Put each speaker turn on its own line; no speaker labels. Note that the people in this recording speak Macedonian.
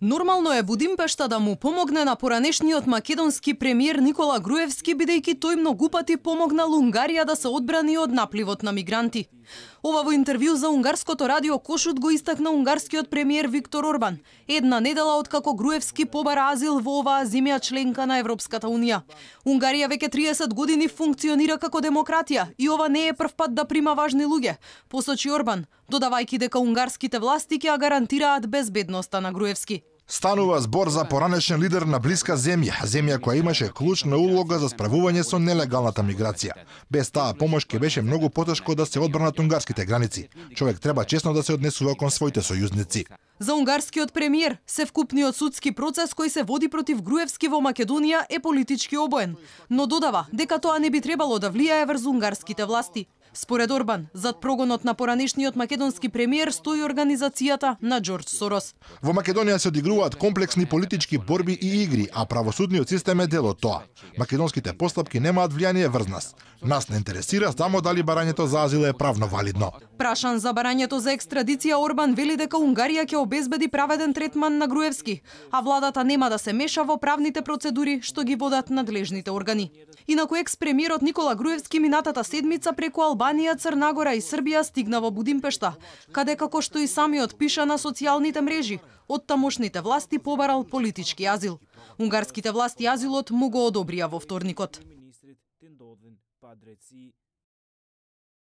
Нормално е Будимпешта да му помогне на поранешниот македонски премиер Никола Груевски, бидејќи тој многу пати помогнал Унгарија да се одбрани од напливот на мигранти. Ова во интервју за унгарското радио Кошут го истакна унгарскиот премиер Виктор Орбан, една недела откако Груевски побара азил во оваа земја членка на Европската унија. Унгарија веќе 30 години функционира како демократија и ова не е прв пат да прима важни луѓе, посочи Орбан, додавајќи дека унгарските власти ќе гарантираат безбедноста на Груевски.
Станува збор за поранешен лидер на блиска земја која имаше клучна улога за справување со нелегалната миграција. Без таа помош ќе беше многу потешко да се одбранат унгарските граници. Човек треба честно да се однесува кон своите сојузници.
За унгарскиот премиер, севкупниот судски процес кој се води против Груевски во Македонија е политички обоен, но додава дека тоа не би требало да влијае врз унгарските власти. Според Орбан, зад прогонот на поранешниот македонски премиер стои организацијата на Џорџ Сорос.
Во Македонија се одигруваат комплексни политички борби и игри, а правосудниот систем е дел од тоа. Македонските постапки немаат влијание врз нас. Нас не интересира само дали барањето за азил е правно валидно.
Прашан за барањето за екстрадиција, Орбан вели дека Унгарија ќе обезбеди праведен третман на Груевски, а владата нема да се меша во правните процедури што ги водат надлежните органи. Инаку екс-премиерот Никола Груевски минатата седмица преку Албанија, Црна Гора и Србија стигна во Будимпешта, каде како што и самиот пиша на социјалните мрежи, од тамошните власти побарал политички азил. Унгарските власти азилот му го одобрија во вторникот.